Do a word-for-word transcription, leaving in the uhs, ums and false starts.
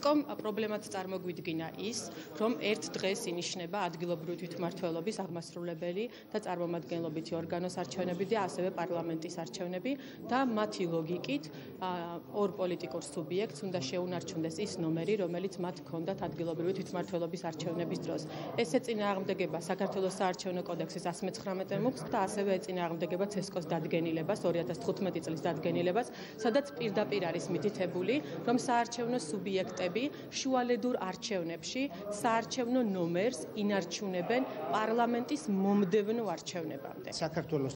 უსტკომ პრობლემად წარმოგვიდგინა ის, რომ ერთ დღეს ინიშნება ადგილობრივი თვითმმართველობის აღმასრულებელი და წარმომადგენლობითი ორგანოს არჩევნები და ასევე პარლამენტის არჩევნები და მათი ლოგიკით ორ პოლიტიკურ სუბიექტს უნდა შეუნარჩუნდეს ის ნომერი, რომელიც მათ ჰქონდათ ადგილობრივი თვითმმართველობის არჩევნების დროს. ეს ეწინააღმდეგება საქართველოს საარჩევნო კოდექსის one nineteen მუხტს და ასევე ეწინააღმდეგება ცესკოს დადგენილებას two thousand fifteen წლის დადგენილებას, სადაც პირდაპირ არის მითითებული, რომ საარჩევნო სუბიექტები შუალედურ არჩევნებში საარჩევნო ნომერს ინარჩუნებენ პარლამენტის მომდევნო არჩევნებამდე. საქართველოს